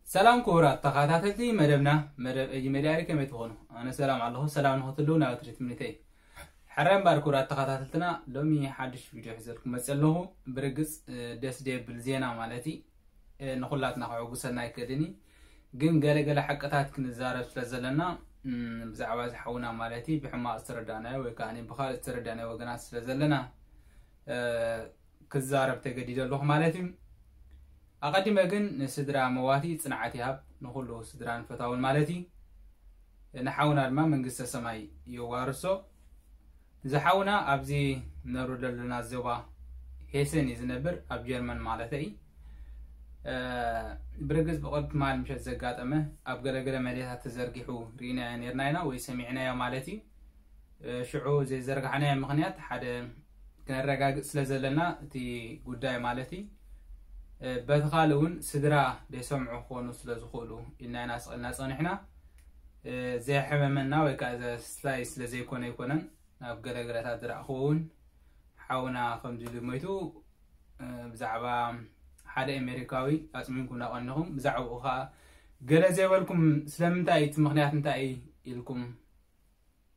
ሰላም ክቡራት ተኸታተልቲ መደብና፣ መደብ ኤጂ ሜድያ እዩ። ከመይ ትኾኑ? ኣነ ሰላም ኣለኹ። ሰላም ንኽትህልዉ ናይ ወትሪ ትምኒተይ። ሕራይ እምበር ክቡራት ተኸታተልትና፣ ሎሚ ሓድሽ ቪድዮ ሒዘልኩም መፅእ ኣለኹ። ብርግፅ፣ እ፣ ደስ ደብል ዜና ማለት እዩ። እ፣ ንኹላትና ከዕጉሰና ኣይክእልን እዩ። ግን ገለገለ ሓቅታት ክንዛረብ ስለ ዘለና፣ እም፣ ብዛዕባ ዝሓውና ማለት እዩ፣ ብሕማቕ ዝተረዳእናዮ ወይ ከዓ ብኻልእ ዝተረዳእናዮ ወገናት ስለ ዘለና፣ እ፣ ክዛረብ ተገዲደ ኣለኹ ማለት እዩ። ኣቐዲመ ግን ንስድራ መዋቲ ጽንዓት ይሃብ፣ ንኹሉ ስድራን ፈታውን ማለት እዩ። ንሓውና ድማ መንግስተ ሰማይ የዋርሶ። ዝሓውና ኣብዚ ነብሩ ዘለና ዞባ ሄሰን እዩ ዝነብር፣ ኣብ ጀርመን ማለት እዩ። እ፣ ብርግጽ ብቕድሚ ትማል ምሸት ዘጋጠመ ኣብ ገለገለ መድያታት ተዘርጊሑ ርኢናዮ ነርና ኢና ወይ ሰሚዕናዮ ማለት እዩ። እ፣ ሽዑ ዘይዘርጋሕናዮ ምኽንያት ሓደ ክነረጋግጽ ስለ ዘለና እቲ ጉዳይ ማለት እዩ። እ፣ በቲ ካልእ እውን ስድራ ዘይሰምዑ ክኾኑ ስለ ዝኽእሉ ኢልና ኢና ስቕ ኢልና ጸኒሕና። እ፣ ዘየሕመመና ወይ ከዓ ዘስላይ ስለ ዘይኮነ ኣይኮነን። ናብ ገለገለታት ዝረኣኽዎ እውን ሓውና ከምዚ ኢሉ ሞይቱ፣ እ፣ ብዛዕባ ሓደ ኣሜሪካዊ ኣጽሚምኩም እናቐኒኹም፣ ብዛዕባኡ ኸዓ ገለ ዘይበልኩም ስለምንታይ እዩ፣ እቲ ምኽንያት እንታይ እዩ ኢልኩም፣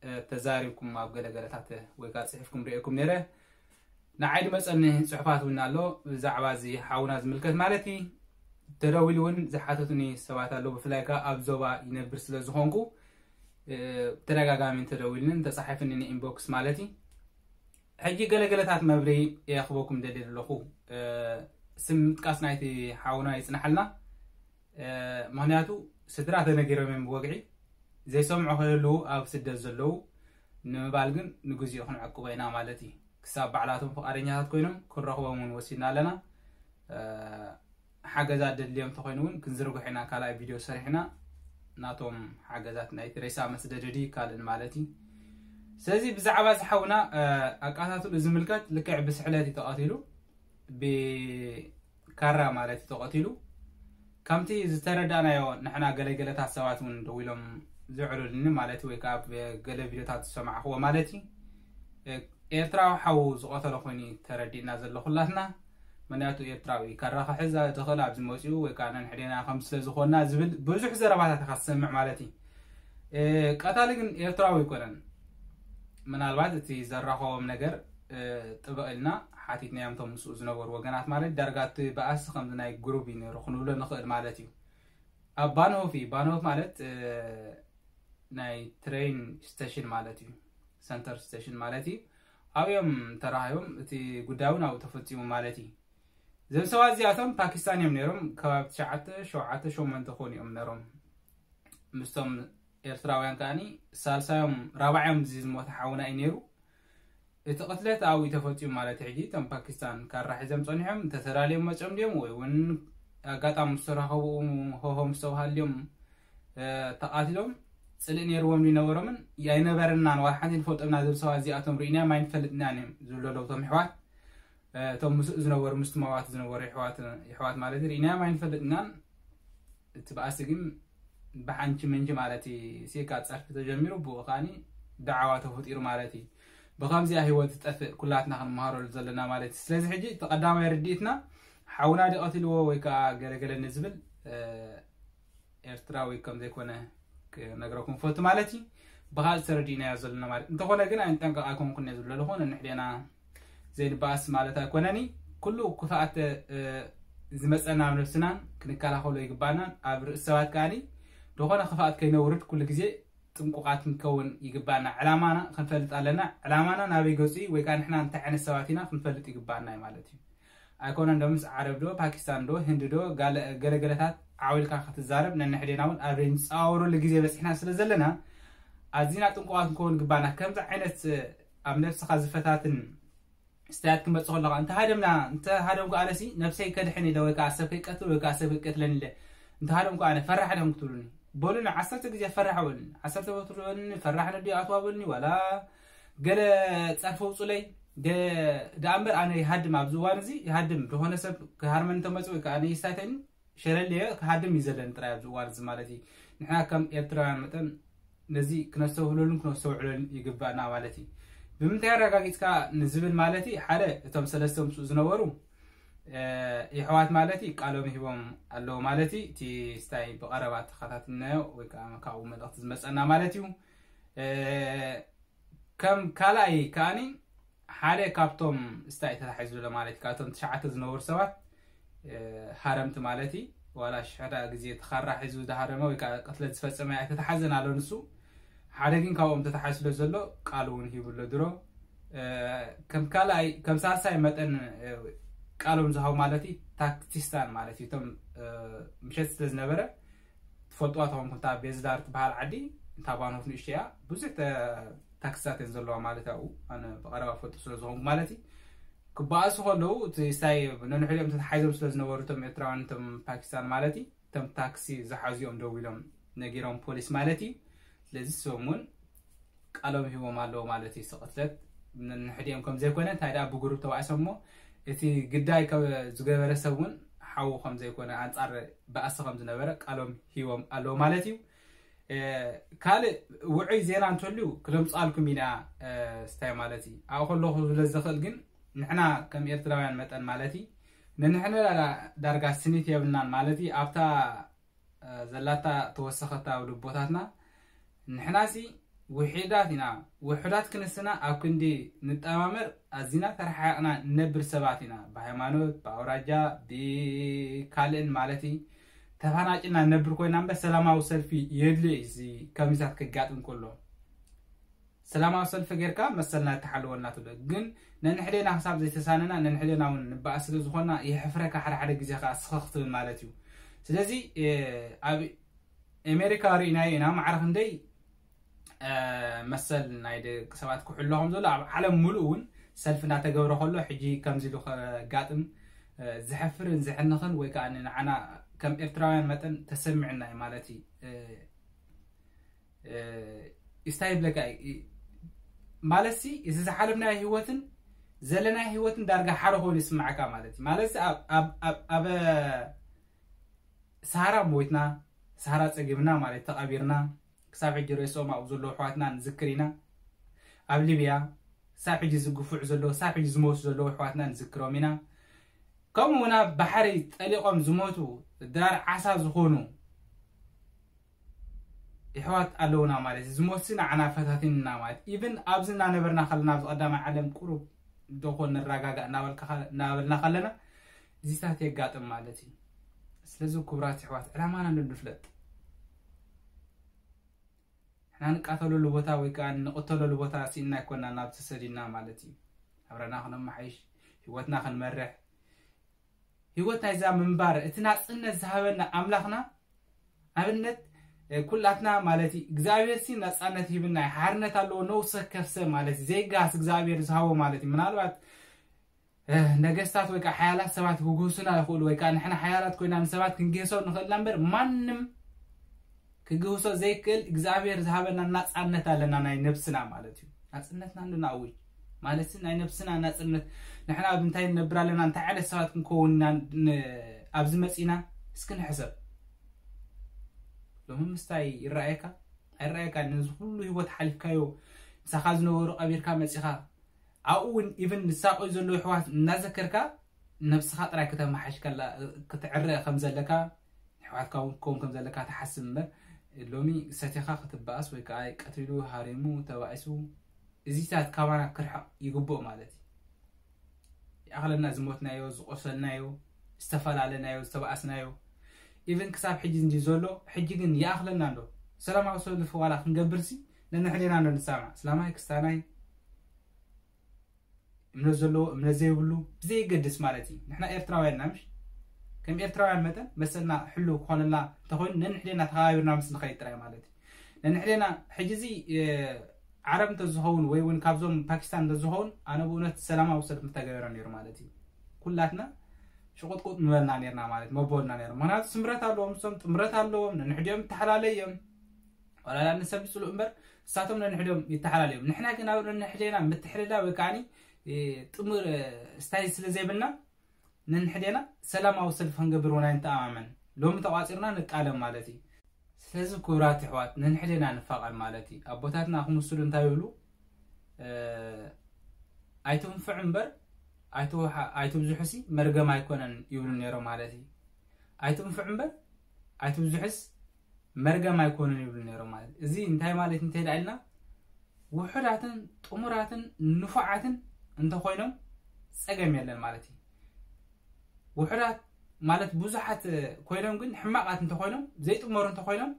እ፣ ተዛሪብኩም ኣብ ገለገለታት ወይ ከዓ ጽሒፍኩም ርኤኩም ነይረ። ንዓይ ዝመጸኒ ጽሑፋት እውን ኣሎ፣ ብዛዕባ እዚ ሓውና ዝምልከት ማለት እዩ። ተደዊሉ እውን ዝሓተቱኒ ሰባት ኣለዉ፣ ብፍላይ ከዓ ኣብ ዞባ ይነብር ስለ ዝኾንኩ፣ እ፣ ተደጋጋሚ ተደዊሉኒ፣ ተጻሒፉኒ ንኢንቦክስ ማለት እዩ። ሕጂ ገለገለታት መብርሂ የኽበኩም ደልየ ዘለኹ። እ፣ ስም ምጥቃስ ናይቲ ሓውና ይጽናሓልና። እ፣ ምኽንያቱ ስድራ ተነጊሮም እዮም ብወግዒ። ዘይሰምዑ ከይህልዉ ኣብ ስደት ዘለዉ ንምባል ግን ንግዚኡ ክንዕቅቦ ኢና ማለት እዩ። ክሳብ ባዕላቶም ፍቓደኛታት ኮይኖም ክንረኽቦም እውን ወሲድና ኣለና። እ፣ ሓገዛት ደድልዮም እንተኾይኑ እውን ክንዝርግሖ ኢና፣ ካልኣይ ቪድዮ ሰሪሕና ናቶም ሓገዛት ናይቲ ሬሳ መስደደዲ ካልእን ማለት እዩ። ስለዚ ብዛዕባ እዚ ሓውና፣ እ፣ ኣቃታትሉ ዝምልከት ልክዕ ብስሕለት እዩ ተቐቲሉ፣ ብካራ ማለት እዩ ተቐቲሉ። ከምቲ ዝተረዳእናዮ ንሕና ገለገለታት ሰባት እውን ደዊሎም ዝዕሉልኒ ማለት ወይ ከዓ ኣብ ገለ ቪድዮታት ዝሰማዕኽዎ ማለት እዩ። እ፣ ኤርትራዊ ሓዉ ዝቐተሎ ኮይኑ ተረዲእና ዘሎ ኩላትና። ምክንያቱ ኤርትራዊ ካራ ክሕዝ ዝኽእል ኣብዚ መፂኡ ወይ ከዓ ነንሕዴና ከም ስለ ዝኾንና ዝብል ብዙሕ ዘረባታት ኢኻ ትሰምዕ ማለት እዩ። እ፣ ቀታሊ ግን ኤርትራዊ ኣይኮነን። ምናልባት እቲ ዘራኸቦም ነገር፣ እ፣ ጥብቕ ኢልና ሓቲትናዮም፣ እቶም ምስኡ ዝነበሩ ወገናት ማለት ዳርጋ እቲ በኣሲ ከምዚ ናይ ግሩብ እዩ ነይሩ ክንብሎ ንኽእል ማለት እዩ። ኣብ ባንሆፍ እዩ። ባንሆፍ ማለት፣ እ፣ ናይ ትሬን ስቴሽን ማለት እዩ። ሰንተር ስቴሽን ማለት እዩ። ኣብዮም ተራኺቦም፣ እቲ ጉዳይ እውን ኣብኡ ተፈጺሙ ማለት እዩ። እዞም ሰባት እዚኣቶም ፓኪስታን እዮም ነይሮም። ከባቢ ትሽዓተ፣ ሸውዓተ፣ ሸሞንተ ክኾኑ እዮም ነይሮም። ምስቶም ኤርትራውያን ከኣኒ ሳልሳዮም፣ ራብዓዮም እዚ ዝሞተ ሓውና እዩ ነይሩ። እቲ ቅትለት ኣብኡ ተፈጺሙ ማለት እዩ። ሕጂ እቶም ፓኪስታን ካራ ሒዞም ጸኒሖም፣ እንተተዳልዮም መጾም ድዮም ወይ እውን ኣጋጣሚ ምስ ተራኸቡ ሆሆ ምስ ተባሃሉ ድዮም፣ እ፣ ተቓቲሎም? ጽልኢ ነይርዎም ድዩ ነበሮምን? ኣይነበረናን፣ ዋላ ሓንቲ ንፈልጦም ኢና ዝብል ሰባት እዚኣቶም ርኢናዮም ኣይንፈልጥን ኢና እዮም ዝብሉ ኣለዉ እቶም ኣሕዋት። እ፣ እቶም ምስኡ ዝነበሩ፣ ምስቲ መዋቲ ዝነበሩ ኣሕዋት፣ ኣሕዋት ማለት ርኢናዮም ኣይንፈልጥን ኢና። እቲ በኣሲ ግን ብሓንቺ ምንጂ ማለት እዩ። ሲካ ጸርፊ ተጀሚሩ፣ ብኡ ከኣኒ ደዓዋ ተፈጢሩ ማለት እዩ። ብኸምዚኣ ህይወት ዝጠፍእ ኩላትና ክንመሃረሉ ዘለና ማለት እዩ። ስለዚ ሕጂ እቲ ቀዳማይ ርድኢትና ሓውና ድዩ ቀቲልዎ ወይ ከዓ ገለገለ ንዝብል፣ እ፣ ኤርትራዊ ከም ዘይኮነ ክነግረኩም ፈቱ ማለት እዩ። ብኻልእ ተረዲእናዮ ዘለና ማለት። እንተኾነ ግን ኣይንጠንቀቕ ኣይኮንኩን እየ ዝብሎ ኣለኹ። ነንሕዴና ዘይንበኣስ ማለት ኣይኮነን። ኩሉ ክፍኣት፣ እ፣ ዝመጸና ኣብ ነብስናን ክንከላኸሎ ይግባእናን፣ ኣብ ርእሲ ሰባት ከኣኒ ዝኾነ ክፍኣት ከይነውርድ ኩሉ ግዜ ጥንቁቓት ክንከውን ይግባእና። ዕላማና ክንፈልጥ ኣለና። ዕላማና ናበይ ገጹ እዩ ወይ ከዓ ንሕና እንታይ ዓይነት ሰባት ኢና ክንፈልጥ ይግባእና እዩ ማለት እዩ። ኣይኮነን ዶ ምስ ዓረብ ዶ ፓኪስታን ዶ ህንዲ ዶ ጋለ-፣ ገለገለታት ዓው ኢልካ ክትዛረብ፣ ነንሕዴና እውን ኣብ ዘይንጻወረሉ ግዜ በጺሕና ስለ ዘለና ኣዚና ጥንቁቓት ክንከውን ይግባእና። ከምዚ ዓይነት ኣብ ነብስኻ ዝፈታትን ስታያት ክመጽእ ከለኻ፣ እንተ ሃደምና፣ እንተ ሃደምኩ ኣነሲ ነብሰይ ከድሕን ኢለ ወይ ከዓ ሰብ ከይቀትል ወይ ከዓ ሰብ ከይቀትለኒ ኢለ እንተ ሃደምኩ ኣነ ፈራሕ ዲኹም ክትብሉኒ? በሉኒ፣ ዓሰርተ ግዜ ፈራሕ በሉኒ፣ ዓሰርተ ወትሩ በሉኒ፣ ፈራሕ ነዲ ኣትዋ በሉኒ፣ ዋላ ገለ ጸርፊ ውጹለይ። ደ-፣ ደኣ እምበር ኣነ ይሃድም፣ ኣብዚ እዋን እዚ ይሃድም። ዝኾነ ሰብ ክሃርመኒ እንተመጽኡ ወይ ከዓ ኣነ ይሳተኒ፣ ሸለል እየ፣ ክሃድም እዩ ዘለኒ ጥራይ ኣብዚ እዋን እዚ ማለት እዩ። ንሕና ከም ኤርትራውያን መጠን ነዚ ክነስተውህለሉን ክነስተውዕለሉን ይግባእና ማለት እዩ። ብምንታይ ኣረጋጊጽካ ንዝብል ማለት እዩ፣ ሓደ እቶም ሰለስተ ምስኡ ዝነበሩ የሕዋት ማለት እዩ ቃሎም ሂቦም ኣለዉ ማለት እዩ። እቲ ስታይ ብቐረባ ተኸታትልናዮ ወይ ከዓ ካብኡ መልእኽቲ ዝመፀና ማለት እዩ። ከም ካልኣይ ከዓኒ ሓደ ካብቶም ስታይ ተታሒዙ ዘሎ ማለት እዩ። ካብቶም ትሽዓተ ዝነበሩ ሰባት ሃረምቲ ማለት እዩ። ዋላ ሽሕዳ ግዜ ተኻራ ሒዙ ዝሃረመ ወይ ከዓ ቅትለት ዝፈፀመ ኣይተተሓዘን ኣሎ ንሱ። ሓደ ግን ካብኦም ተታሓዝ ስለ ዘሎ ቃል እውን ሂቡ ኣሎ ድሮ። ከም ካልኣይ ከም ሳልሳይ መጠን ቃሎም ዝሃቡ ማለት እዩ። ታክቲስታን ማለት እዩ። እቶም ምሸት ስለ ዝነበረ ትፈልጥዋ ተኾንኩም እታ ቤዝዳር ትበሃል ዓዲ እታ ባኖፍ ንእሽተያ ብዙሕ ታክሲታት እየን ዘለዋ ማለት ኣብኡ ኣነ ብቐረባ ፈልጡ ስለ ዝኾንኩ ማለት እዩ። ክበኣሱ ከለዉ እቲ ስታይ ነንሕድኦም ተታሓይዞም ስለ ዝነበሩ እቶም ኤርትራውያን እቶም ፓኪስታን ማለት እዩ። እቶም ታክሲ ዝሓዙ እዮም ደው ኢሎም ነጊሮም ፖሊስ ማለት እዩ። ስለዚ እሶም እውን ቃሎም ሂቦም ኣለዉ ማለት እዩ። ስቕትለት ንሕድኦም ከም ዘይኮነ እንታይ ደኣ ብጉሩብ ተባእሶም እሞ እቲ ግዳይ ዝገበረ ሰብ እውን ሓዉ ከም ዘይኮነ ኣንጻር ባእሲ ከም ዝነበረ ቃሎም ሂቦም ኣለዉ ማለት እዩ። ካልእ ውዑይ ዜና እንተልዩ ክለምጻልኩም ኢና። ስታይ ማለት እዩ ኣብኡ ከለኹ ስለ ዝኽእል ግን ንሕና ከም ኤርትራውያን መጠን ማለት እዩ ንንሕና ዳርጋ ስኒት የብልናን ማለት እዩ ኣብታ ዘላታ ተወሰኸታ ኣብ ልቦታትና ንሕናሲ ውሒዳት ኢና። ውሑዳት ክንስና ኣብ ክንዲ ንጠማመር ኣዚና ተረሓሕቕና ንነብር ሰባት ኢና። ብሃይማኖት ብኣውራጃ ብካልእን ማለት ተፋናጭና ንነብር ኮይና እምበር ሰላማዊ ሰልፊ የድልዮ እዩ እዚ ከምዚታት ከጋጥም ከሎ ሰላማዊ ሰልፊ ጌርካ መሰልና ተሓልወልና ትብሎ ግን ነንሕደና ክሳብ ዘይተሳነና ነንሕደና እውን ንበኣስ ስለ ዝኾና የሕፍረካ ሓደ ሓደ ግዜ ከዓ ስኸ ክትብል ማለት እዩ። ስለዚ ኣብ ኣሜሪካ ርኢናዮ ኢና ማዕረ ክንደይ መሰል ናይ ደቂ ሰባት ክሕሎ ከም ዘሎ ኣብ ዓለም ሙሉእ እውን ሰልፊ እናተገብረ ከሎ ሕጂ ከምዚ ኢሉ ከጋጥም ዝሕፍርን ዝሕንኽን ወይ ከዓ ንዓና ከም ኤርትራውያን መጠን ተሰሚዕና እዩ ማለት እዩ። ስታይ ይብለካ ማለት ሲ እዚ ዝሓለፍናዮ ህይወትን ዘለናዮ ህይወትን ዳርጋ ሓደ ኮይኑ ይስማዓካ ማለት እዩ ማለት ኣብ ሳራ ሞይትና ሳራ ፀጊብና ማለት ተቐቢርና ክሳብ ሕጂ ርእሶም ኣብኡ ዘለዉ ኣሕዋትና ንዝክር ኢና። ኣብ ሊብያ ክሳብ ሕጂ ዝግፉዕ ዘለዉ ክሳብ ሕጂ ዝሞቱ ዘለዉ ኣሕዋትና ንዝክሮም ኢና። ከምኡ እውን ኣብ ባሕሪ ጠሊቖም ዝሞቱ ድራር ዓሳ ዝኾኑ ይሕዋት ኣለውና ማለት እዩ። ዝሞትሲ ንዓና ፈታቲንና ማለት ኢቭን ኣብዚ እናነበርና ከለና ኣብዚ ቀዳማይ ዓለም ቁሩብ ደኾ ንረጋጋእ እናበልና ከለና እዚታት የጋጥም ማለት እዩ። ስለዚ ክቡራት ይሕዋት ዕላማና እንዶ ንፍለጥ ንሕና ንቃተለሉ ቦታ ወይ ከዓ ንቕተለሉ ቦታ ስኢና ኣይኮና ናብ ተሰዲና ማለት እዩ። ኣብረና ክነመሓይሽ ህይወትና ክንመርሕ ህይወት ናይዛ ምንባር እቲ ናፅነት ዝሃበና ኣምላኽና ኣብነት ኩላትና ማለት እዩ እግዚኣብሔር ሲ ናፃነት ሂብና ሓርነት ኣለዎ ነውሰ ከፍሰ ማለት እዩ ዘይጋስ እግዚኣብሔር ዝሃቦ ማለት እዩ ምናልባት ነገስታት ወይ ከዓ ሓያላት ሰባት ክግህሱና ይኽእሉ ወይ ከዓ ንሕና ሓያላት ኮይና ንሰባት ክንግህሶም ንኽእልና እምበር ማንም ክግህሶ ዘይክእል እግዚኣብሔር ዝሃበና ናፃነት ኣለና ናይ ነብስና ማለት እዩ ናፅነትና እንዶ ንኣውጅ ማለት ናይ ነብስና ናፅነት ንሕና ኣብ እንታይ ንነብር ኣለና እንታይ ዓይነት ሰባት ክንከውን ኢና ኣብዚ መፂና እስኪ ንሕሰብ ሎሚ ምስታይ ይረኣየካ ኣይረኣየካ ነዚ ኩሉ ህይወት ሓሊፍካዮ ምሳኻ ዝነበሩ ቀቢርካ መፂኻ ኣብኡ እውን ኢቭን ዝሳቆዩ ዘለዉ ኣሕዋት እናዘከርካ ነብስኻ ጥራይ ከተመሓሽ ክትዕረ ከም ዘለካ ኣሕዋትካ እውን ክኸውን ከም ዘለካ ትሓስብ እምበር ሎሚ ሰቲኻ ክትበኣስ ወይ ከዓ ቀትሪሉ ሃሪሙ ተባኢሱ እዚታት ካባና ክርሕቕ ይግብኦ ማለት እዩ። ይኣኽለና ዝሞትናዮ ዝቆሰልናዮ ዝተፈላለናዮ ዝተባኣስናዮ ኢቭን ክሳብ ሕጂ እንዲ ዘሎ ሕጂ ግን ይኣኽለና እንዶ ሰላማዊ ሰልፊ ዋላ ክንገብርሲ ነንሕዴና እንዶ ንሰማዕ እስላማይ ክስታናይ እምነት ዘለዎ እምነት ዘይብሉ ብዘየገድስ ማለት እዩ ንሕና ኤርትራውያን ኢና ምሽ ከም ኤርትራውያን መጠን መሰልና ሕልው ክኾነልና እንተኮይኑ ነንሕዴና ተኸባቢርና ምስ ንኸይድ ጥራይ ማለት እዩ ነንሕዴና ሕጂ እዚ ዓረብ እንተዝኸውን ወይ እውን ካብዞም ፓኪስታን እንተዝኸውን ኣነ ብእውነት ሰላማዊ ሰልፍ ምተገበረ ነይሩ ማለት እዩ ኩላትና ሽቁጥቁጥ ምበልና ነርና ማለት መቦልና ነሩ ምክንያቱ ስምረት ኣለዎም ሶም ጥምረት ኣለዎም ነንሕዲኦም ተሓላለዮም ዋላ ንሰብ ይፅልኡ እምበር እሳቶም ነንሕዶም ይተሓላለዮም ንሕና ግን ኣብ ነንሕዴና ምትሕልላ ወይ ከዓኒ ጥሙር ስታይ ስለ ዘይብልና ነንሕዴና ሰላማዊ ሰልፊ ክንገብር እውን ኣይንተኣማመን ሎሚ ተቋፂርና ንቃለም ማለት እዩ ስለዚ ክቡራት ኣሕዋት ነንሕዴና ንፋቐር ማለት እዩ ኣቦታትና ክምስሉ እንታይ ይብሉ ኣይትንፍዕ እምበር ኣይትውሓ- ኣይትብዝሑሲ መርገም ኣይኮነን ይብሉ ነይሮም ማለት እዩ። ኣይትንፍዕ እምበር ኣይትብዝሑስ መርገም ኣይኮነን ይብሉ ነይሮም ማለት እዩ። እዚ እንታይ ማለት እንተይዳ ኢልና ውሑዳትን ጥሙራትን ንፉዓትን እንተኮይኖም ጸገም የለን ማለት እዩ። ውሑዳት ማለት ብዙሓት ኮይኖም ግን ሕማቓት እንተኮይኖም ዘይጥመሩ እንተኮይኖም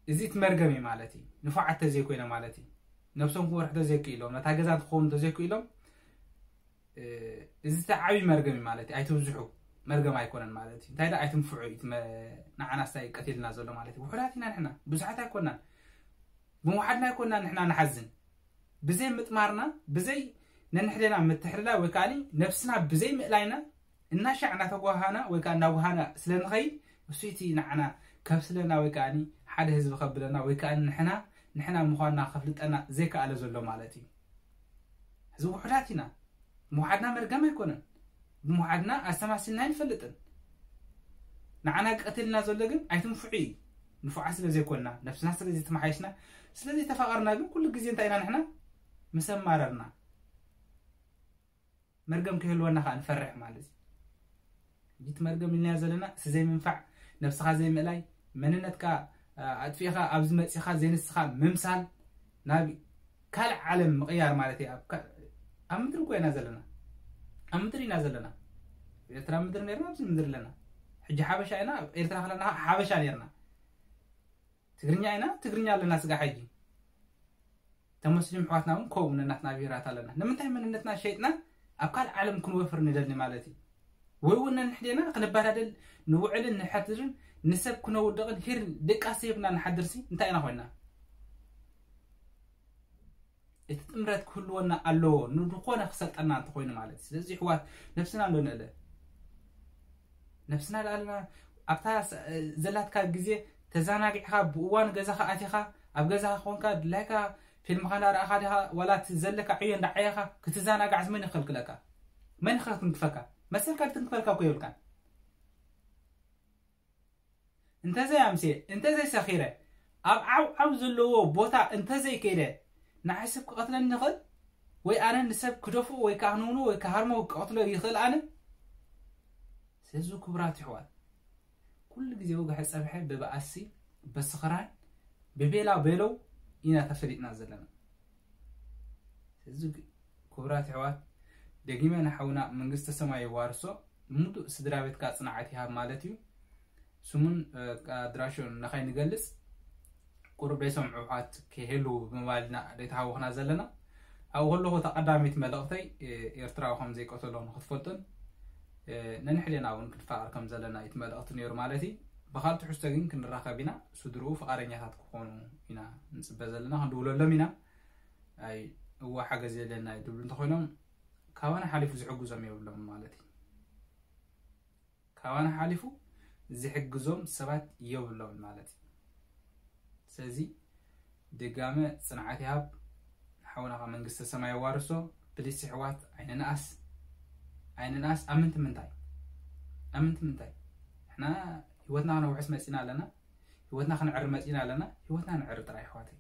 እዚ እቲ መርገም እዩ ማለት እዩ። ንፉዓት ተዘይኮይኖም ማለት እዩ። ነብሶም ክወርሑ ተዘይክኢሎም ነታ ገዛ ክኸውን ተዘይክኢሎም እዚ ተዓቢ መርገም እዩ ማለት እዩ። ኣይትብዝሑ መርገም ኣይኮነን ማለት እዩ። እንታይ ዳ ኣይትንፍዑ እዩ እቲ መ- ንዓና ስታይ ቀቲልና ዘሎ ማለት እዩ። ውሑዳት ኢና ንሕና ብዙሓት ኣይኮናን። ብምውሓድና ኣይኮናን ንሕና ንሓዝን ብዘይ ምጥማርና ብዘይ ነንሕደና ምትሕልላ ወይ ከዓ ነብስና ብዘይ ምእላይና እናሻዕ እናተጓሃና ወይ ከዓ እናጓሃና ስለ ንኸይድ እሱ እቲ ንዓና ከብስለና ወይ ከዓ ሓደ ህዝቢ ከብለና ወይ ከዓ ንሕና ንሕና ምዃንና ከፍልጠና ዘይከኣለ ዘሎ ማለት እዩ። እዚ ውሑዳት ኢና። ምውሓድና መርገም ኣይኮነን። ብምውሓድና ኣስተማሲልና ኣይንፈልጥን። ንዓና ቀትልና ዘሎ ግን ኣይትንፍዑ እዩ። ንፉዓት ስለ ዘይኮንና ነብስና ስለ ዘይተመሓየሽና ስለ ዘይተፋቐርና ግን ኩሉ ግዜ እንታይ ኢና ንሕና ምስ ኣማረርና መርገም ክህልወና ከዓ ንፈርሕ ማለት እዩ። እቲ መርገም ኢልና ዘለና እሲ ዘይምንፋዕ ነብስኻ ዘይምእላይ መንነትካ ኣጥፊእኻ ኣብዚ መፂኻ ዘይንስኻ ምምሳል ናብ ካልእ ዓለም ምቕያር ማለት እዩ። ኣብ ምድሪ እኮ ኢና ዘለና ኣብ ምድሪ ኢና ዘለና ኤርትራ ምድሪ ነርና ኣብዚ ምድሪ ኣለና። ሕጂ ሓበሻ ኢና ኤርትራ ከለና ሓበሻ ነርና። ትግርኛ ኢና ትግርኛ ኣለና ስጋ ሕጂ ተመስሊም ኣሕዋትና እውን ከምኡ ነናትና ብሄራት ኣለና። ንምንታይ መንነትና ሸይጥና ኣብ ካልእ ዓለም ክንወፍር ንደሊ ማለት እዩ? ወይ እውን ነንሕዴና ክንበዳደል ንውዕልን ንሐድርን ንሰብ ክነውድቕን ሂር ድቃስ ሂብና ንሓድርሲ እንታይ ኢና ኮይንና? እቲ ጥምረት ክህልወና ኣለዎ ንድኾነ ክሰልጠና እንተኮይኑ ማለት እዩ። ስለዚ ኣሕዋት ነብስና ኣሎ ንእለ ነብስና ደኣ ኣለና ኣብታ ዘላትካ ግዜ ተዘናጊዕካ ብእዋን ገዛኻ ኣቲኻ ኣብ ገዛኻ ኮንካ ድላይካ ፊልምኻ እንዳረኣኻ ዲኻ ዋላ እቲ ዘለካ ዕዮ እንዳዓየኻ ክትዘናጋዕስ መን ይኸልክለካ? መን ይኸትንክፈካ? መሰልካ ክትንክፈልካ እኮ የብልካን። እንተዘይ ኣምስየ እንተዘይ ሰኺረ ኣብ ዓው ዓው ዘለዎ ቦታ እንተዘይ ከይደ ንዓይ ሰብ ክቐትለኒ ይኽእል ወይ ኣነ ንሰብ ክደፍኦ ወይ ከዓ ክንውንዎ ወይ ክሃርሞ ክቐትሎ ይኽእል ኣነ። ስለዚ ክቡራት ኣሕዋት ኩሉ ግዜ ወግሐ ጸብሐ ብበኣሲ ብስኽራን ብቤላ ቤለው ኢና ተፈሊጥና ዘለና። እዚ ክቡራት ኣሕዋት ደጊመ ንሓውና መንግስተ ሰማይ የዋርሶ ምሉእ ስድራ ቤትካ ጽንዓት ይሃብ ማለት እዩ። ስሙን ኣድራሽኡን ንኸይንገልጽ ቁሩብ ደይሰምዑ ኣሕዋት ክህልዉ ብምባል ኢና ደይተሃወኽና ዘለና። ኣብኡ ከለኹ እታ ቀዳመይቲ መልእኽተይ ኤርትራዊ ከም ዘይቀተሎ ንክትፈልጡን ነንሕዴና እውን ክንፋቐር ከም ዘለና እዩ እቲ መልእኽቲ ነይሩ ማለት እዩ። ብኻልእ ትሕዝቶ ግን ክንራኸብ ኢና። ስድርኡ ፍቓደኛታት ክኾኑ ኢና ንጽበ ዘለና ክንድውለሎም ኢና። ኣይ እዋ ሓገዝ የለና እዩ ድብሉ እንተኮይኖም ካባና ሓሊፉ ዝሕግዞም የብሎም ማለት እዩ። ካባና ሓሊፉ ዝሕግዞም ሰባት የብሎም ማለት እዩ። ስለዚ ድጋመ ጽንዓት ይሃብ ሓውናኻ መንግስተ ሰማይ ኣዋርሶ። ፕሊስ ኣሕዋት ኣይንንኣስ ኣይንንኣስ። ኣምንቲ ምንታይ ኣምንቲ ምንታይ ንሕና ህይወትና ክነውሕስ መጺና ኣለና። ህይወትና ክንዕሪ መጺና ኣለና። ህይወትና ንዕሪ ጥራይ ኣሕዋተይ።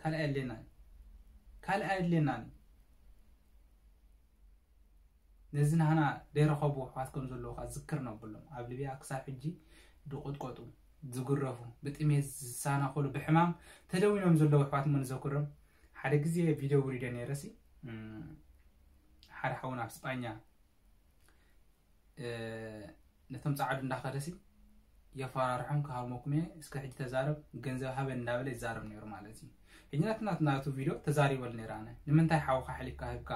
ካልእ ኣየድልየናን ካልእ ኣየድልየናን። ነዚ ናህና ደይረኸቡ ኣሕዋት ከም ዘለዉ ከዓ ዝክር ነብሎም ኣብ ሊብያ ክሳብ ሕጂ ዝቆጥቀጡ ዝግረፉ ብጥሜት ዝሳናኸሉ ብሕማም ተደዊኖም ዘለዉ ኣሕዋት እሞ ንዘክሮም። ሓደ ግዜ ቪድዮ ውሪደ ነይረ ሲ ሓደ ሓውን ኣብ ስጳኛ ነቶም ጻዕዱ እንዳኸደሲ የፈራርሖም ክሃርመኩም እየ እስከ ሕጂ ተዛረብ ገንዘብ ሃበን እንዳበለ ይዛረብ ነይሩ ማለት እዩ። ሕጂ ናትና ናቱ ቪድዮ ተዛሪበሉ ነይረ ኣነ ንምንታይ ሓውካ ሕሊፍካ ህብካ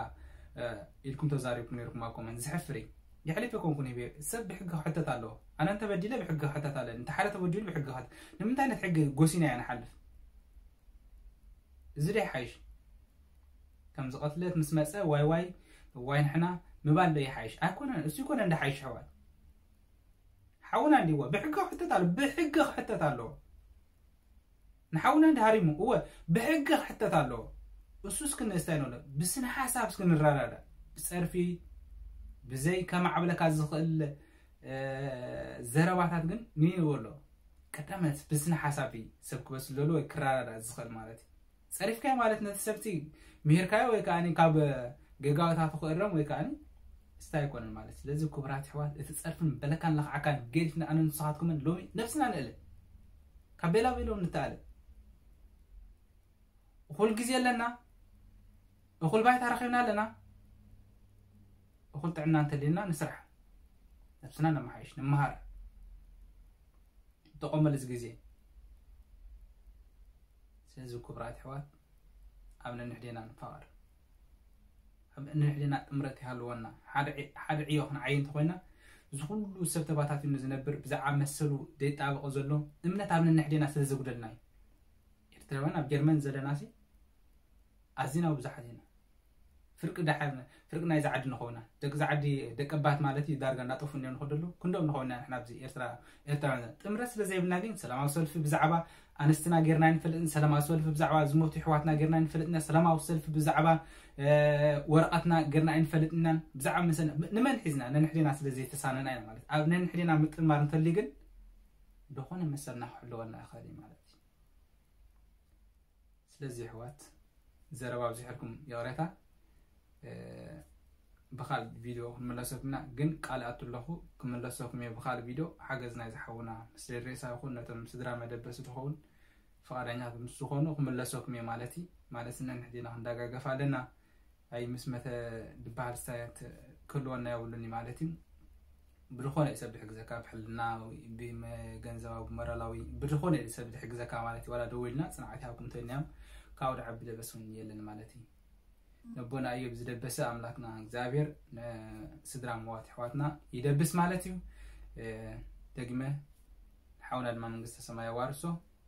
ኢልኩም ተዛሪብኩም ነይርኩም ኣብ ኮመንት ዝሕፍር እዩ። የሕሊፍ የኮንኩን ሂበ ሰብ ብሕጊ ክሕተት ኣለዎ። ኣነ እንተበዲለ ብሕጊ ክሕተት ኣለ እንተ ሓደ ተበዲሉ ብሕጊ ክሕተት ንምንታይ ነት ሕጊ ጎሲና እያ ንሓልፍ? እዚ ዶ ይሓይሽ? ከም ዝቐትለት ምስ መጸ ዋይ ዋይ ዋይ ንሕና ምባል ዶ ይሓይሽ? ኣይኮነን። እሱ ይኮነ እንደ ሓይሽ ኣሕዋት ሓውና እንዲዎ ብሕጊ ክሕተት ኣሎ ብሕጊ ክሕተት ኣለዎ። ንሓውና እንዲ ሃሪሙ እወ ብሕጊ ክሕተት ኣለዎ። እሱ እስክንስታይ ንብሎ ብስነ ሓሳብ እስክንረዳዳ ብጸርፊ ብዘይ ከማዕብለካ ዝኽእል ዘረባታት ግን ንይንበሎ ቀዳመት ብስነ ሓሳብ ሰብ ክበስለሉ ወይ ክረዳዳ ዝኽእል ማለት እዩ። ጸሪፍካዮ ማለት ነቲ ሰብቲ ምሂርካዮ ወይ ከዓ ካብ ገጋታት ክእረም ወይ ከዓ ስታይ ኣይኮነን ማለት። ስለዚ ክቡራት ኣሕዋት፣ እቲ ጸርፍን በለካን ለኽዓካን ገዲፍና ኣነ ንስኻትኩምን ሎሚ ነብስና ንእለ፣ ካብ ቤላ ቤሎም ንተኣለ። እኹል ግዜ ኣለና፣ እኹል ባይታ ረኺብና ኣለና። እኹል ጥዕና እንተልየና ንስራሕ፣ ነብስና ነመሓይሽ፣ ንመሃር፣ ንጠቐመሉ እዚ ግዜ። ስለዚ ክቡራት ኣሕዋት፣ ኣብ ነንሕዴና ንፋቐር፣ ኣብ ነንሕዴና ጥምረት ይሃልወና። ሓደ ዕዮ ክንዓይ እንተኮይና፣ እዚ ኩሉ ሰብ ተባታቲኑ ዝነብር ብዛዕባ መሰሉ ደይጣበቆ ዘሎ እምነት ኣብ ነንሕዴና ስለ ዘጉደልና እዩ። ኤርትራውያን ኣብ ጀርመን ዘለና ሲ ኣዚና ብዙሓት ኢና። ፍርቂ ደሓር ፍርቂ ናይዚ ዓዲ ንኸውና፣ ደቂ ዛዓዲ ደቂ ኣባት ማለት እዩ። ዳርጋ እናጠፉ እኒኦም ንኸደሉ ክንዶም ንኸውና። ንሕና ኣብዚ ኤርትራ ኤርትራውያን ጥምረት ስለ ዘይብልና ግን ሰላማዊ ሰልፊ ብዛዕባ ኣንስትና ጌርና ይንፈልጥን፣ ሰላማዊ ሰልፊ ብዛዕባ ዝሞቱ ኣሕዋትና ጌርና ይንፈልጥና፣ ሰላማዊ ሰልፊ ብዛዕባ ወረቐትና ጌርና ኣይንፈልጥናን። ብዛዕባ መሰልና ንመን ሒዝና ነንሕዴና ስለ ዘይተሳነና ኢና ማለት። ኣብ ነንሕዴና ምጥማር እንተልዩ ግን ዝኾነ መሰልና ክሕልወልና ይኽእል እዩ ማለት እዩ። ስለዚ ኣሕዋት፣ ዘረባ ኣብዚሐልኩም ይቕሬታ። ብኻልእ ቪድዮ ክንመለሰኩም ኢና፣ ግን ቃል ኣቱ ኣለኹ ክምለሰኩም እየ ብኻልእ ቪድዮ። ሓገዝ ናይ ዝሓውና ምስ ሬሳ ይኹን ነቶም ስድራ መደበሲ ዝኸውን ፍቓደኛታት ምስ ዝኾኑ ክምለሰኩም እየ ማለት እዩ። ማለት ነንሕዴና ክንደጋገፍ ኣለና። ኣይ ምስ መተ ዝበሃል ስታያት ክህልወና የብሉን ማለት እዩ። ብዝኾነ እዩ ሰብ ዝሕግዘካ፣ ብሕልናዊ፣ ብመ-፣ ገንዘባዊ፣ ብሞራላዊ፣ ብዝኾነ እዩ ሰብ ዝሕግዘካ ማለት እዩ። ዋላ ደዊልና ጽንዓት ይሃብኩም እንተኢልናዮም ካብኡ ዝዓቢ ደበስ እውን የለን ማለት እዩ። ነቦና እዮብ ዝደበሰ ኣምላክና እግዚኣብሔር ንስድራ መዋት ኣሕዋትና ይደብስ ማለት እዩ። እ፣ ደግመ ሓውና ድማ መንግስተ ሰማይ ኣዋርሶ።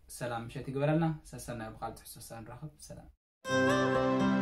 ሰላም ምሸት ይግበረልና። ሰሰናዩ ብኻልእ ትሕዝቶ ንራኸብ። ሰላም።